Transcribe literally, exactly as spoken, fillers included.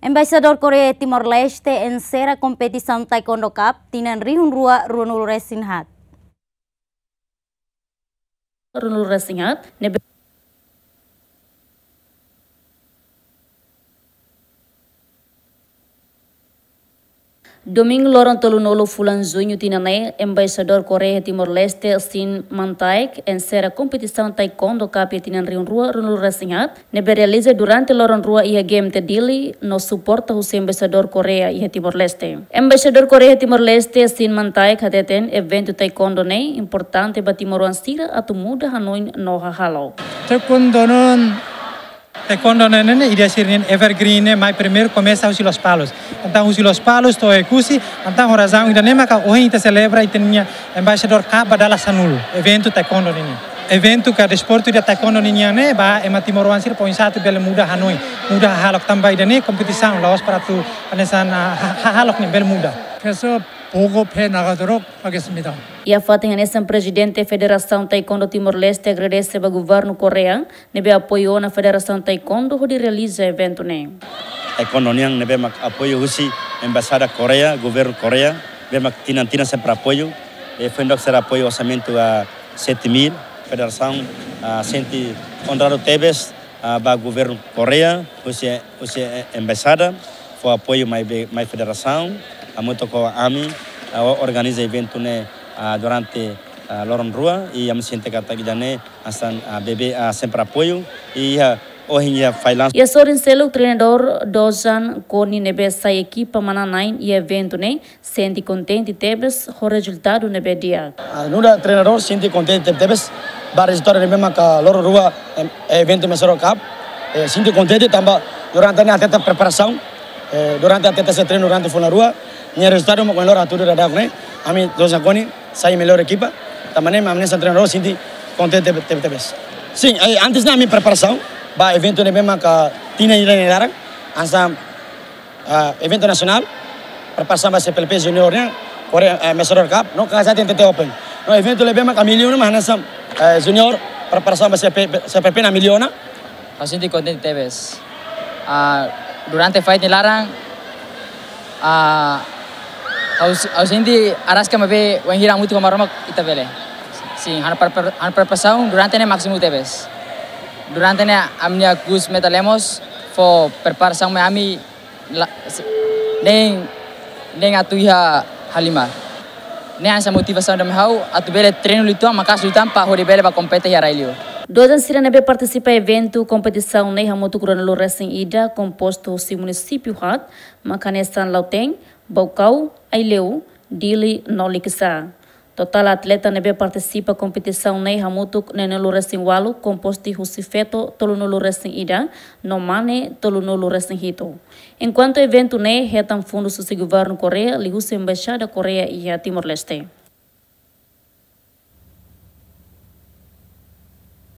Embaixadór Koreia iha Timor-Leste ensera kompetisaun Taekwondo Cup tinan rihun rua ruanulu resin haat. Ruanulu resin haat, ne'ebé Domingu loron tolunulu fulan Juñu tinan ne'e, Embaixadór Koreia iha Timor-Leste, Shin Man-taek, ensera kompetisaun Taekwondo Cup iha tinan rihun rua ruanulu resin haat, ne'ebé realiza durante loron rua iha G M T Dili no suporta husi Embaixadór Koreia iha Timor-Leste. Embaixadór Koreia iha Timor-Leste, Shin Man-taek, hateten eventu Taekwondo ne'e importante ba timoroan sira atu muda hanoin no hahalok. Taekwondo ne'e, Taekwondo ne'e, ne'e, ne'e, ida sira-nia evergreen ne'e, mai primeiru komesa husi Lospalos. Entaun husi Lospalos to'o Oekusi, entaun ho razaun ida-ne'e maka ohin ita selebra ita-nia Embaixadór Cup ba dala sanulu, eventu Taekwondo ne'e. Eventu ka desportu ida Taekwondo ne'e, ne'e, ba ema timoroan sira foin-sa'e atu bele muda hanoin, muda hahalok tanba ida-ne'e kompetisaun la'ós para atu hanesan, ah, ha-, hahalok ne'e bele muda. 그래서 보급해 나가도록 하겠습니다. Iha fatin hanesan, Prezidente Federasaun Taekwondo Timor-Leste agradese ba Governu Koreia ne'ebé apoiu ona Federasaun Taekwondo hodi realiza eventu ne'e. Taekwondo nian ne'ebé mak apoiu husi Embaixada Koreia, Governu Koreia, ne'ebé mak tinan-tinan sempre apoiu. E foin dook sira apoiu orsamentu, ah, sete mil, federasaun, ah, sente onradu tebes, ah, ba Governu Koreia, husi, husi, eh, Embaixada, fó apoiu mai be, mai federasaun, hamutuk ho ami, ah, o-, organiza eventu ne'e, ah, durante, ah, loron rua, i ami sente katak ida-ne'e hanesan, ah, bebé, ah, sempre apoiu, i, ah, ohin iha failan. Iha sorin seluk, treinadór Dozan Koni ne'ebé sai ekipa manán-na'in iha eventu ne'e, sente kontente tebes ho rezultadu ne'ebé di'ak. Ah, nu'udar treinadór sente kontente tebes ba rezultadu ne'ebé maka loron rua, em, eventu Embaixadór Cup. Eh, sente kontente tanba durante ne'e atleta preparasaun, eh, durante atleta sei treinu durante fulan rua, nia rezultadu maka loron atu dura dak ne'e, ami Dozan Koni sai mellór ekipa, tanba ne'e ami hanesan treinadór sente kontente tebes. Sin, eh, antes ne'e ami preparasaun ba eventu ne'ebé maka tinan ida nia laran, hanesan ah, eventu nasionál, preparasaun ba C P L P Junior nian, Koreia, eh, Embaixadór Cup, no KSA T N T Open. No eventu ne'ebé maka ami liu ona mak hanesan, eh, Junior, preparasaun ba C P, C P L P ne'e ami liu ona. Ha'u sente kontente tebes. Ah, durante fight nia laran, ah, ha'u, ha'u sente araska maibé wainhira hamutuk ho Maromak ita bele. Sin, ha'u-nia pre-, ha'u-nia preparasaun durante ne'e másimu tebes. Durante ne'e ami-nia coach Meta Lemos fó preparasaun mai ami la, se, nein, nein atu iha halimar. Nein hanesan motivasaun ida mai ha'u atu bele treinu liután, maka'as liután para hodi bele bá kompete iha rai-li'ur. Dozan sira ne'ebé partisipa eventu kompetisaun ne'e hamutuk ruanulu resin ida, kompostu husi munisípiu haat, mak hanesan Lautein, Baucau, Aileu, Dili no Likisá. Totál atleta ne'ebé partisipa kompetisaun ne'e hamutuk neenulu resin ualu, kompostu husi feto tolunulu resin ida, no mane tolunulu resin hitu. Enkuantu eventu ne'e hetan fundus husi Governu Koreia, liuhusi Embaixada Koreia iha Timor-Leste.